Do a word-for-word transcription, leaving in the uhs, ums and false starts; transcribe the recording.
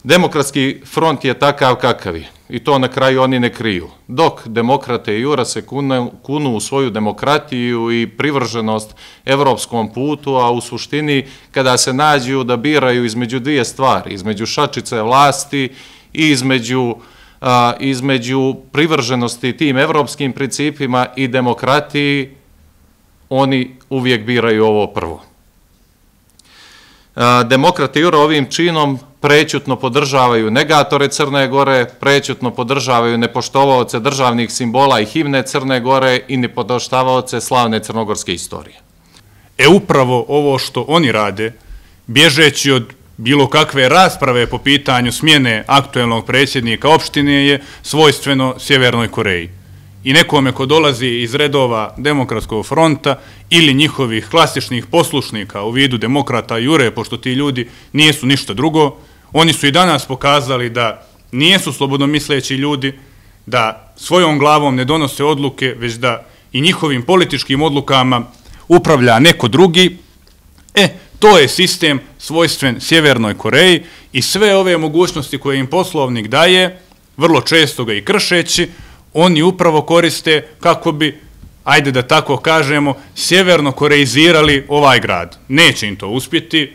Demokratski front je takav kakav je i to na kraju oni ne kriju. Dok demokrate i Jura se kunu u svoju demokratiju i privrženost evropskom putu, a u suštini kada se nađu da biraju između dvije stvari, između šačice vlasti i između, a, između privrženosti tim evropskim principima i demokratiji, oni uvijek biraju ovo prvo. Demokrate Jura ovim činom prećutno podržavaju negatore Crne Gore, prećutno podržavaju nepoštovaoce državnih simbola i himne Crne Gore i nepoštavaoce slavne crnogorske istorije. E upravo ovo što oni rade, bježeći od bilo kakve rasprave po pitanju smjene aktuelnog predsjednika opštine, je svojstveno Sjevernoj Koreji. I nekome ko dolazi iz redova Demokratskog fronta ili njihovih klasičnih poslušnika u vidu demokrata Jure, pošto ti ljudi nisu ništa drugo, oni su i danas pokazali da nijesu slobodnomisleći ljudi, da svojom glavom ne donose odluke, već da i njihovim političkim odlukama upravlja neko drugi. E, to je sistem svojstven Sjevernoj Koreji i sve ove mogućnosti koje im poslovnik daje, vrlo često ga i kršeći, oni upravo koriste kako bi, ajde da tako kažemo, sjeverno koreizirali ovaj grad. Neće im to uspjeti,